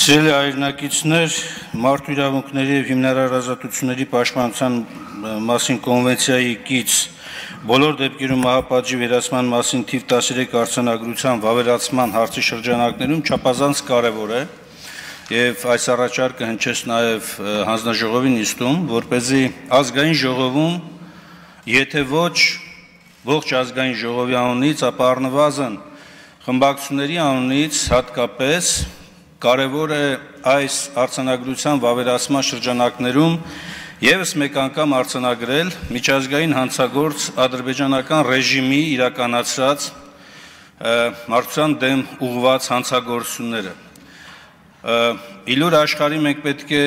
Սիրելի հայրենակիցներ, մարդու իրավունքների և հիմնարար ազատությունների պաշտպանության մասին կոնվենցիայի կից բոլոր դեպքերում մահապատժի վերացման մասին թիվ 13 արձանագրության վավերացման հարցի շրջանակներում չափազանց կարևոր է և այս առաջարկը հնչեց նաև հանձնաժողովի նիստում, որպեսզի ազգային ժողովում, եթե ոչ ողջ ազգային ժողովի անունից, ապա առնվազն խմբակցությունների անունից հատկապես կարևոր է այս արձանագրության վավերացման շրջանակներում ևս մեկ անգամ արձանագրել միջազգային հանցագործ ադրբեջանական ռեժիմի իրականացրած մարդկության դեմ ուղղված հանցագործությունները։ Իլուր աշխարհի մենք պետք է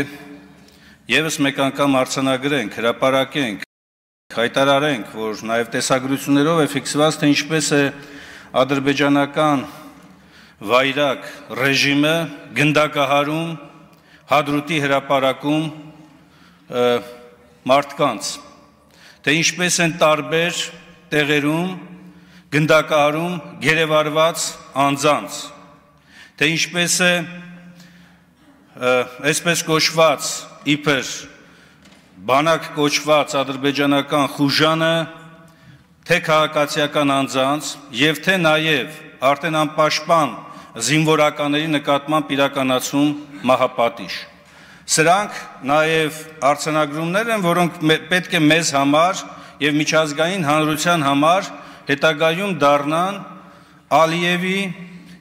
ևս մեկ անգամ արձանագրենք, հրապարակենք, հայտարարենք, որ նաև տեսագրություններով է ֆիքսված, թե ինչպես է ադրբեջանական վայրակ ռեժիմը գնդակահարում, հադրութի հրապարակում մարդկանց, թե ինչպես են տարբեր տեղերում գնդակահարում գերեվարված անձանց, թե ինչպես է այսպես կոչված իբր բանակ կոչված ադրբեջանական խուժանը թե քաղաքացիական անձանց և թե նաև արդեն անպաշտպան զինվորականների նկատմամբ իրականացում մահապատիժ։ Սրանք նաև արձանագրումներ են, որոնք պետք է մեզ համար և միջազգային հանրության համար հետագայում դառնան Ալիևի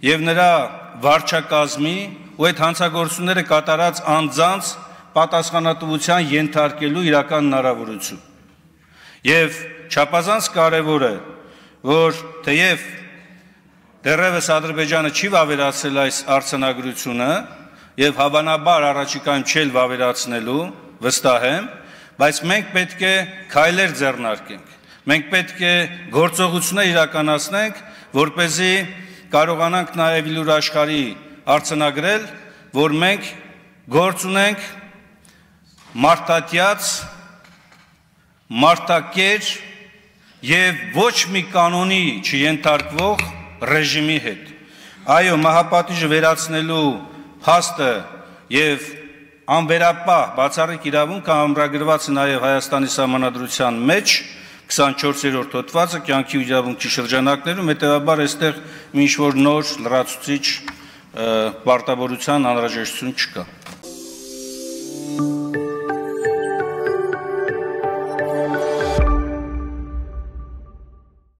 և նրա վարչակազմի ու այդ հանցագործությունները կատարած անձանց պատասխանատվության ենթարկելու իրական հնարավորություն։ Եվ չափազանց կարևոր է, որ թեև դեռևս Ադրբեջանը չի վավերացրել այս արձանագրությունը և հավանաբար առաջիկայում չի վավերացնելու, վստահ եմ, բայց մենք պետք է քայլեր ձեռնարկենք, մենք պետք է գործողություններ իրականացնենք, որպեսզի կարողանանք նաև իլուր աշխարհի արձանագրել, որ մենք գործ ունենք մարդատյաց, մարդակեր և ոչ մի կանոնի չենթարկվող ռեժիմի հետ։ Այո, մահապատիժը վերացնելու փաստը և անվերապահ բացառիկ իրավունքը ամրագրված է նաև Հայաստանի Սահմանադրության մեջ 24-րդ հոդվածը կյանքի ու իրավունքի շրջանակներում, հետևաբար այստեղ ինչ-որ նոր լրացուցիչ պարտավորության անհրաժեշտություն չկա։